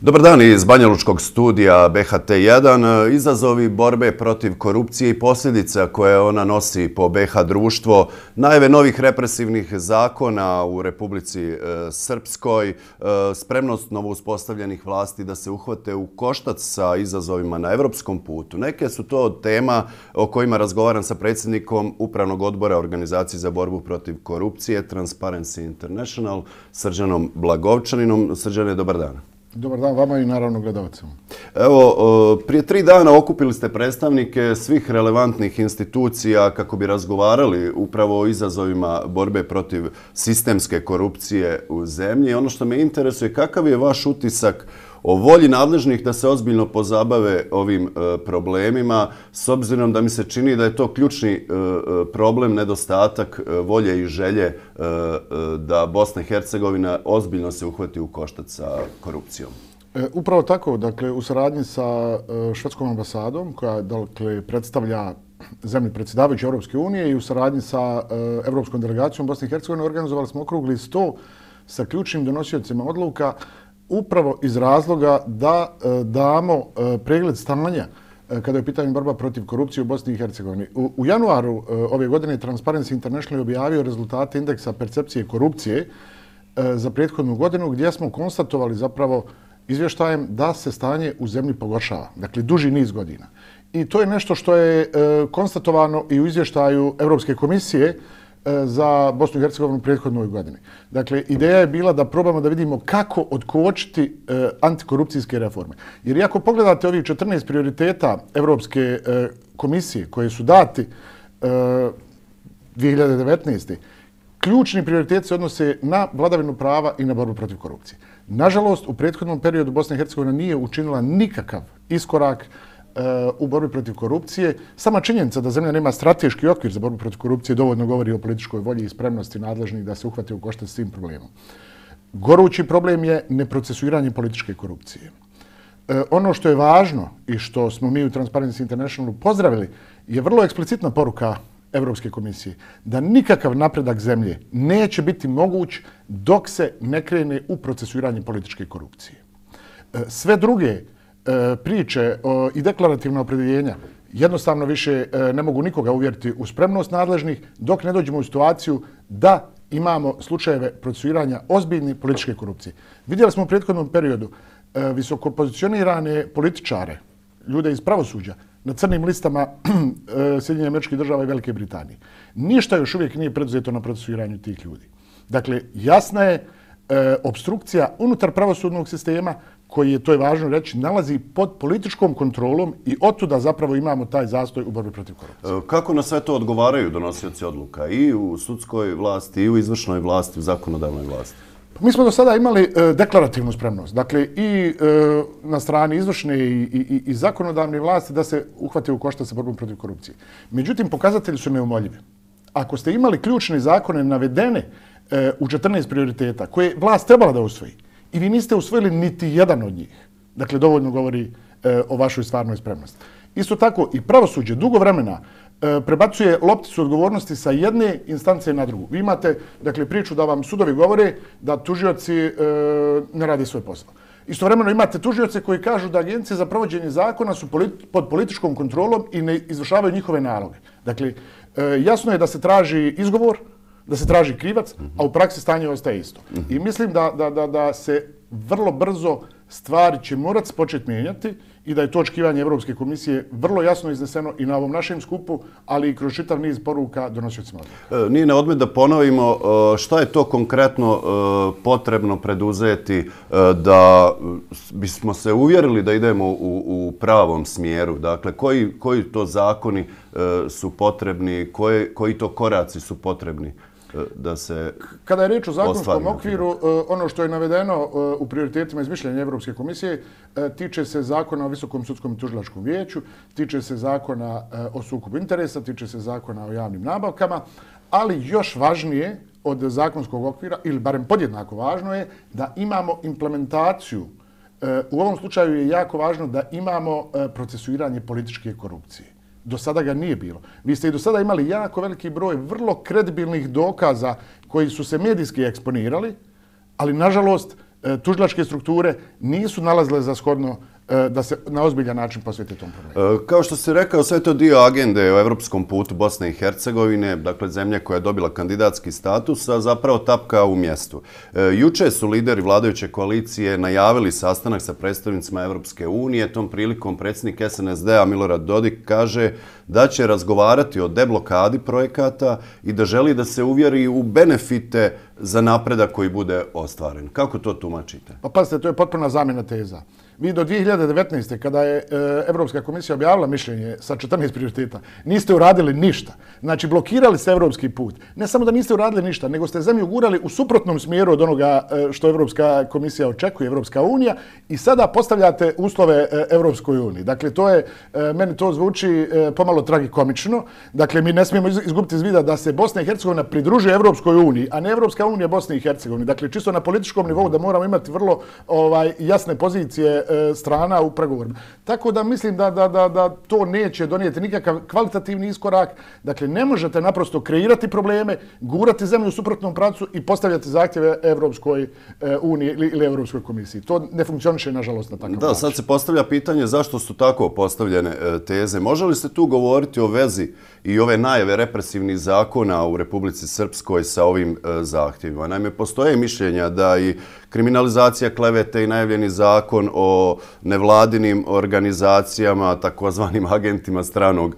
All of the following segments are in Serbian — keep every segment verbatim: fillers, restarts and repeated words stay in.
Dobar dan iz Banjalučkog studija B H T jedan. Izazovi borbe protiv korupcije i posljedica koje ona nosi po B H društvo, najave novih represivnih zakona u Republici Srpskoj, spremnost novouspostavljenih vlasti da se uhvate u koštac sa izazovima na evropskom putu. Neke su to tema o kojima razgovaram sa predsjednikom Upravnog odbora Organizacije za borbu protiv korupcije Transparency International, Srđanom Blagovčaninom. Srđane, dobar dan. Dobar dan vama i naravno gledalcima. Evo, prije tri dana okupili ste predstavnike svih relevantnih institucija kako bi razgovarali upravo o izazovima borbe protiv sistemske korupcije u zemlji. Ono što me interesuje, kakav je vaš utisak o volji nadležnih da se ozbiljno pozabave ovim problemima, s obzirom da mi se čini da je to ključni problem, nedostatak volje i želje da Bosna i Hercegovina ozbiljno se uhvati u koštac sa korupcijom. Upravo tako, dakle, u saradnji sa švedskom ambasadom, koja dakle, predstavlja zemlji predsjedavajuće Europske unije, i u saradnji sa Evropskom delegacijom Bosne i Hercegovine organizovali smo okrugli sto sa ključnim donosiocima odluka, upravo iz razloga da damo pregled stanja kada je u pitanju borba protiv korupcije u Bosni i Hercegovini. U, u januaru ove godine Transparency International je objavio rezultate indeksa percepcije korupcije za prethodnu godinu, gdje smo konstatovali zapravo izvještajem da se stanje u zemlji pogoršava, dakle duži niz godina. I to je nešto što je konstatovano i u izvještaju Europske komisije za Bosnu i Hercegovinu u prethodnoj godini. Dakle, ideja je bila da probamo da vidimo kako otkočiti e, antikorupcijske reforme. Jer i ako pogledate ovih četrnaest prioriteta Evropske e, komisije koje su dati e, dvije hiljade devetnaeste. ključni prioriteti se odnose na vladavinu prava i na borbu protiv korupcije. Nažalost, u prethodnom periodu Bosna i Hercegovina nije učinila nikakav iskorak u borbi protiv korupcije. Sama činjenica da zemlja nema strateški okvir za borbu protiv korupcije dovoljno govori o političkoj volji i spremnosti nadležnih da se uhvate u koštac s tim problemom. Gorući problem je neprocesuiranje političke korupcije. E, ono što je važno i što smo mi u Transparency Internationalu pozdravili je vrlo eksplicitna poruka Evropske komisije da nikakav napredak zemlje neće biti moguć dok se ne krene u procesuiranje političke korupcije. E, sve druge priče i deklarativna opredjeljenja jednostavno više ne mogu nikoga uvjeriti u spremnost nadležnih dok ne dođemo u situaciju da imamo slučajeve procesuiranja ozbiljne političke korupcije. Vidjeli smo u prethodnom periodu visoko pozicionirane političare, ljude iz pravosuđa, na crnim listama Sjedinjenih Američkih Država i Velike Britanije. Ništa još uvijek nije preduzeto na procesuiranju tih ljudi. Dakle, jasna je opstrukcija unutar pravosudnog sistema koji je, to je važno reći, nalazi pod političkom kontrolom i otuda zapravo imamo taj zastoj u borbi protiv korupcije. Kako na sve to odgovaraju donosioci odluka i u sudskoj vlasti, i u izvršnoj vlasti, u zakonodavnoj vlasti? Mi smo do sada imali e, deklarativnu spremnost, dakle i e, na strani izvršne i, i, i zakonodavne vlasti da se uhvate u koštac sa borbom protiv korupcije. Međutim, pokazatelji su neumoljivi. Ako ste imali ključne zakone navedene e, u četrnaest prioriteta koje vlast trebala da usvoji, i vi niste usvojili niti jedan od njih. Dakle, dovoljno govori e, o vašoj stvarnoj spremnosti. Isto tako i pravosuđe dugo vremena e, prebacuje lopticu odgovornosti sa jedne instance na drugu. Vi imate, dakle, priču da vam sudovi govore da tužioci e, ne rade svoj posao. Istovremeno imate tužioce koji kažu da agencije za provođenje zakona su politi pod političkom kontrolom i ne izvršavaju njihove naloge. Dakle, e, jasno je da se traži izgovor, da se traži krivac, a u praksi stanje ostaje isto. I mislim da, da, da, da se vrlo brzo stvari će morati početi mijenjati i da je to očekivanje Evropske komisije vrlo jasno izneseno i na ovom našem skupu, ali i kroz čitav niz poruka donosiocima odluka. Nije na odmet da ponovimo šta je to konkretno potrebno preduzeti da bismo se uvjerili da idemo u, u pravom smjeru. Dakle, koji, koji to zakoni su potrebni, koje, koji to koraci su potrebni da se... Kada je riječ o zakonskom okviru, ono što je navedeno u prioritetima iz mišljenja Evropske komisije tiče se zakona o Visokom sudskom i tužilačkom vijeću, tiče se zakona o sukobu interesa, tiče se zakona o javnim nabavkama, ali još važnije od zakonskog okvira, ili barem podjednako važno je da imamo implementaciju. U ovom slučaju je jako važno da imamo procesuiranje političke korupcije. Do sada ga nije bilo. Vi ste i do sada imali jako veliki broj vrlo kredibilnih dokaza koji su se medijski eksponirali, ali nažalost tužilačke strukture nisu nalazile za shodno da se na ozbiljan način posvete tom problemu. Kao što si rekao, sve to dio agende o evropskom putu Bosne i Hercegovine, dakle zemlja koja je dobila kandidatski status, a zapravo tapka u mjestu. Juče su lideri vladajuće koalicije najavili sastanak sa predstavnicima Evropske unije. Tom prilikom predsjednik S N S D-a Milorad Dodik kaže da će razgovarati o deblokadi projekata i da želi da se uvjeri u benefite za napredak koji bude ostvaren. Kako to tumačite? Pa pazite, to je potpuna zamjena teza. Vi do dvije hiljade devetnaeste. kada je Evropska komisija objavila mišljenje sa četrnaest prioriteta, niste uradili ništa. Znači, blokirali ste evropski put. Ne samo da niste uradili ništa, nego ste zemlju gurali u suprotnom smjeru od onoga što Evropska komisija očekuje, Evropska unija, i sada postavljate uslove Evropskoj uniji. Dakle, to je, meni to zvuči pomalo tragikomično. Dakle, mi ne smijemo izgubiti iz vida da se Bosna i Hercegovina pridružuje Evropskoj uniji, a ne Evropska unija Bosne i Hercegovine. Dakle, čisto na političkom nivou da moramo imati vrlo ovaj, jasne pozicije strana u pregovorima. Tako da mislim da, da, da, da to neće donijeti nikakav kvalitativni iskorak. Dakle, ne možete naprosto kreirati probleme, gurati zemlju u suprotnom pravcu i postavljati zahtjeve Evropskoj uniji ili Evropskoj komisiji. To ne funkcioniše, nažalost, na takav način. Da, sad se postavlja pitanje zašto su tako postavljene teze. Može li se tu govoriti o vezi i ove najave represivnih zakona u Republici Srpskoj sa ovim zahtjevima? Naime, postoje mišljenja da i kriminalizacija klevete i najavljeni zakon o nevladinim organizacijama, takozvanim agentima stranog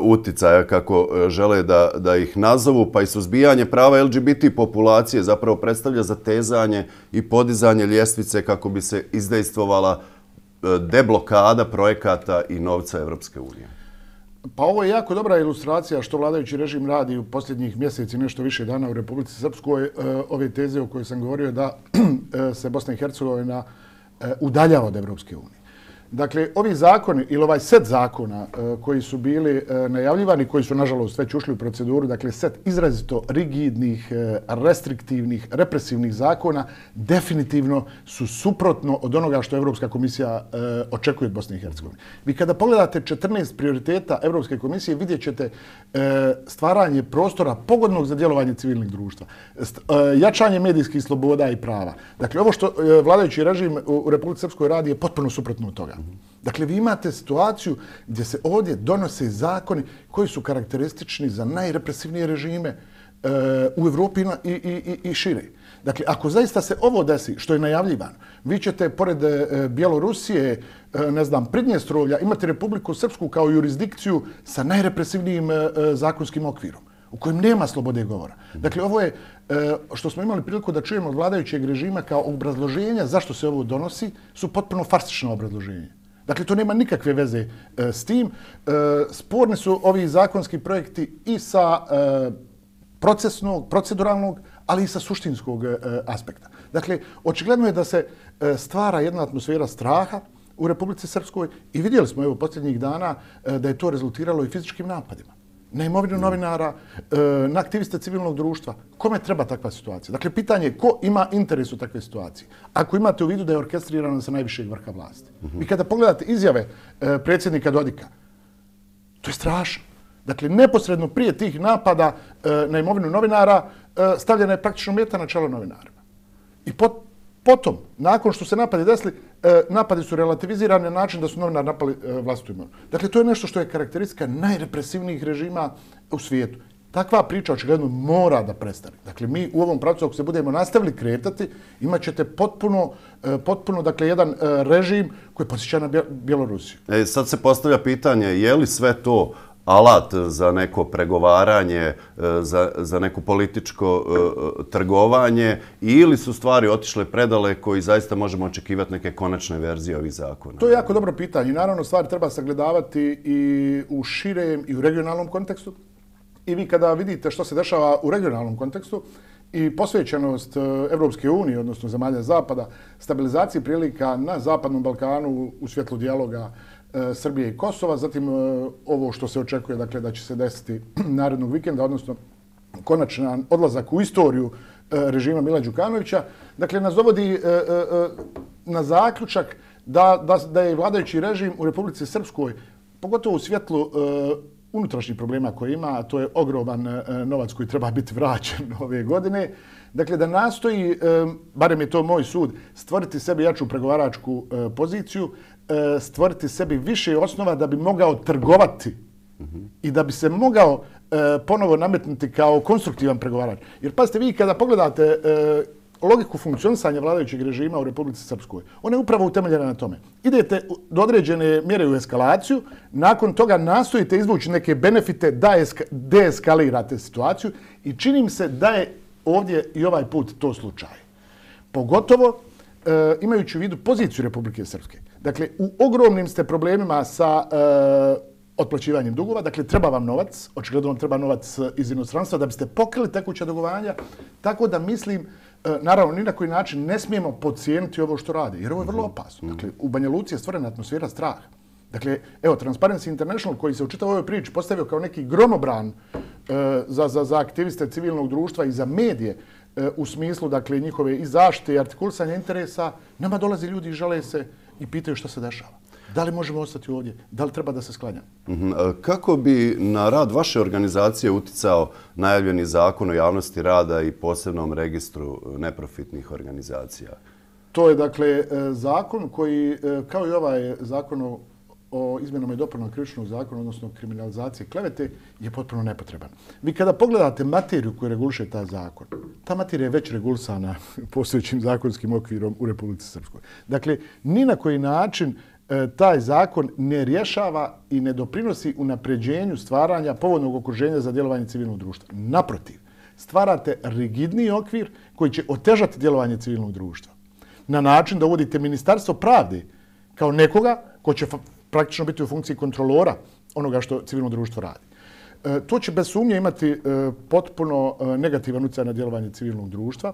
uticaja, kako žele da, da ih nazovu, pa i suzbijanje prava L G B T populacije zapravo predstavlja zatezanje i podizanje ljestvice kako bi se izdejstvovala deblokada projekata i novca Evropske unije. Pa ovo je jako dobra ilustracija što vladajući režim radi u posljednjih mjeseci, nešto više dana u Republici Srpskoj. Ove teze o kojoj sam govorio da se Bosna i Hercegovina udaljava od Evropske unije. Dakle, ovi zakoni ili ovaj set zakona koji su bili najavljivani, koji su nažalost već ušli u proceduru, dakle set izrazito rigidnih, restriktivnih, represivnih zakona, definitivno su suprotno od onoga što Evropska komisija očekuje od Bosne i Hercegovine. Vi kada pogledate četrnaest prioriteta Evropske komisije, vidjet ćete stvaranje prostora pogodnog za djelovanje civilnih društva, jačanje medijskih sloboda i prava. Dakle, ovo što vladajući režim u Republici Srpskoj radi je potpuno suprotno od toga. Dakle, vi imate situaciju gdje se ovdje donose zakoni koji su karakteristični za najrepresivnije režime e, u Evropi i, i, i šire. Dakle, ako zaista se ovo desi, što je najavljivano, vi ćete pored e, Bjelorusije, e, ne znam, Pridnjestrovlja, imati Republiku Srpsku kao jurisdikciju sa najrepresivnijim e, zakonskim okvirom, u kojem nema slobode govora. Dakle, ovo je što smo imali priliku da čujemo od vladajućeg režima kao obrazloženja zašto se ovo donosi, su potpuno farsično obrazloženje. Dakle, to nema nikakve veze s tim. Sporni su ovi zakonski projekti i sa procesnog, proceduralnog, ali i sa suštinskog aspekta. Dakle, očigledno je da se stvara jedna atmosfera straha u Republici Srpskoj i vidjeli smo evo posljednjih dana da je to rezultiralo i fizičkim napadima na imovinu novinara, na aktiviste civilnog društva. Kome treba takva situacija? Dakle, pitanje je ko ima interes u takve situacije. Ako imate u vidu da je orkestrirano sa najvišeg vrha vlasti. Vi kada pogledate izjave predsjednika Dodika, to je strašno. Dakle, neposredno prije tih napada na imovinu novinara stavljena je praktično meta na čelo novinarima. I pot, potom, nakon što se napadi desili, napadi su relativizirani na način da su novinari napali vlastitu imovinu. Dakle, to je nešto što je karakteristika najrepresivnijih režima u svijetu. Takva priča očigledno mora da prestane. Dakle, mi u ovom pravcu, ako se budemo nastavili kretati, imat ćete potpuno, potpuno dakle, jedan režim koji posjeća na Bjelorusiju. E, sad se postavlja pitanje, je li sve to alat za neko pregovaranje, za, za neko političko uh, trgovanje ili su stvari otišle predaleko i zaista možemo očekivati neke konačne verzije ovih zakona? To je jako dobro pitanje. Naravno, stvari treba sagledavati i u širem i u regionalnom kontekstu. I vi kada vidite što se dešava u regionalnom kontekstu i posvećenost Evropske unije, odnosno zemalja Zapada, stabilizaciji prilika na Zapadnom Balkanu u svjetlu dijaloga Srbije i Kosova, zatim ovo što se očekuje, dakle, da će se desiti narednog vikenda, odnosno konačan odlazak u istoriju režima Mila Đukanovića, dakle, nas dovodi na zaključak da, da, da je vladajući režim u Republici Srpskoj, pogotovo u svjetlu unutrašnjih problema koje ima, a to je ogroman novac koji treba biti vraćen ove godine. Dakle, da nastoji, barem je to moj sud, stvoriti sebi jaču pregovaračku poziciju, stvoriti sebi više osnova da bi mogao trgovati i da bi se mogao ponovo nametnuti kao konstruktivan pregovarač. Jer pazite, vi kada pogledate logiku funkcionisanja vladajućeg režima u Republici Srpskoj, ona je upravo utemeljena na tome. Idete do određene mjere u eskalaciju, nakon toga nastojite izvući neke benefite da deeskalirate situaciju i čini mi se da je ovdje i ovaj put to slučaj. Pogotovo e, imajući u vidu poziciju Republike Srpske. Dakle, u ogromnim ste problemima sa e, otplaćivanjem dugova, dakle, treba vam novac, očigledno vam treba novac iz inostranstva da biste pokrili tekuća dugovanja, tako da mislim, e, naravno, ni na koji način ne smijemo podcijeniti ovo što rade, jer ovo je vrlo opasno. Dakle, u Banja Luci je stvorena atmosfera straha. Dakle, evo, Transparency International, koji se u čitavoj ovoj priči postavio kao neki gromobran e, za, za, za aktiviste civilnog društva i za medije, e, u smislu, dakle, njihove i zaštite i artikulisanja interesa, nama dolaze ljudi i žale se i pitaju što se dešava. Da li možemo ostati ovdje? Da li treba da se sklanjamo? Kako bi na rad vaše organizacije uticao najavljeni zakon o javnosti rada i posebnom registru neprofitnih organizacija? To je, dakle, zakon koji, kao i ovaj zakon o o izmjenama i dopunama krivičnog zakona, odnosno kriminalizacije klevete, je potpuno nepotreban. Vi kada pogledate materiju koju reguliše taj zakon, ta materija je već regulisana postojećim zakonskim okvirom u Republici Srpskoj. Dakle, ni na koji način e, taj zakon ne rješava i ne doprinosi unapređenju stvaranja povoljnog okruženja za djelovanje civilnog društva. Naprotiv, stvarate rigidniji okvir koji će otežati djelovanje civilnog društva. Na način da uvodite Ministarstvo pravde kao nekoga ko će praktično biti u funkciji kontrolora onoga što civilno društvo radi. E, to će bez sumnje imati e, potpuno e, negativan utjecaj na djelovanje civilnog društva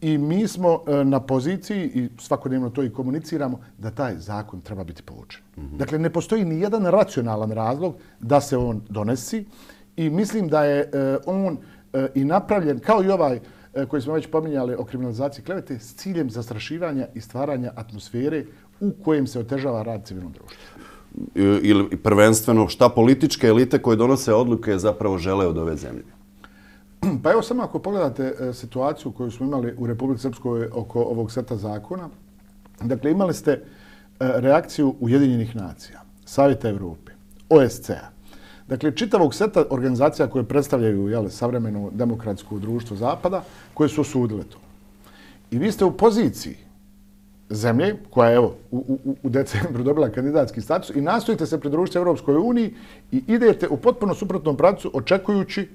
i mi smo e, na poziciji, i svakodnevno to i komuniciramo, da taj zakon treba biti povučen. Mm-hmm. Dakle, ne postoji ni jedan racionalan razlog da se on donesi i mislim da je e, on e, i napravljen, kao i ovaj e, koji smo već pominjali o kriminalizaciji klevete, s ciljem zastrašivanja i stvaranja atmosfere u kojem se otežava rad civilnog društva. Ili prvenstveno šta političke elite koje donose odluke zapravo žele od ove zemlje? Pa evo samo ako pogledate situaciju koju smo imali u Republici Srpskoj oko ovog seta zakona, dakle imali ste reakciju Ujedinjenih nacija, Savjeta Evrope, O S C A, dakle čitavog seta organizacija koje predstavljaju jel, savremeno demokratsko društvo Zapada, koje su osudile to. I vi ste u poziciji zemlje, koja je evo, u, u, u decembru dobila kandidatski status i nastojite se pridružiti Europskoj uniji i idete u potpuno suprotnom pravcu očekujući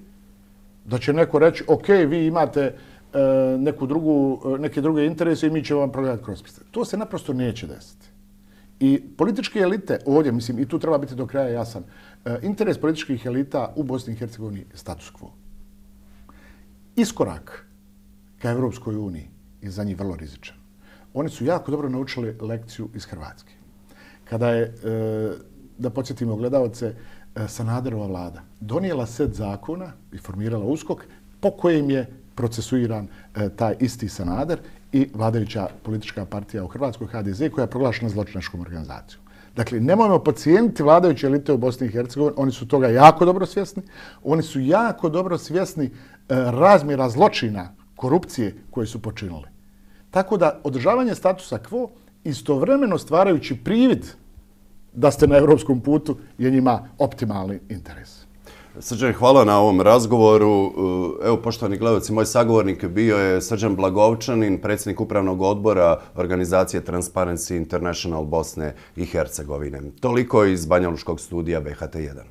da će neko reći ok, vi imate e, neku drugu, neke druge interese i mi ćemo vam progledati kroz prste. To se naprosto neće desiti. I političke elite ovdje, mislim, i tu treba biti do kraja jasan, e, interes političkih elita u Bosni i Hercegovini je status quo. Iskorak ka Europskoj uniji je za njih vrlo rizičan. Oni su jako dobro naučili lekciju iz Hrvatske. Kada je, da podsjetimo gledalce, Sanaderova vlada donijela set zakona i formirala USKOK po kojim je procesuiran taj isti Sanader i vladajuća politička partija u Hrvatskoj, H D Z, koja je proglašena zločinačkom organizacijom. Dakle, nemojmo podcijeniti vladajuće elite u Bosni i Hercegovini, oni su toga jako dobro svjesni. Oni su jako dobro svjesni razmjera zločina, korupcije koje su počinili. Tako da održavanje statusa quo, istovremeno stvarajući privid da ste na evropskom putu, je njima optimalni interes. Srđan, hvala na ovom razgovoru. Evo, poštovani gledalci, moj sagovornik bio je Srđan Blagovčanin, predsjednik upravnog odbora organizacije Transparency International Bosne i Hercegovine. Toliko iz Banjalučkog studija B H T jedan.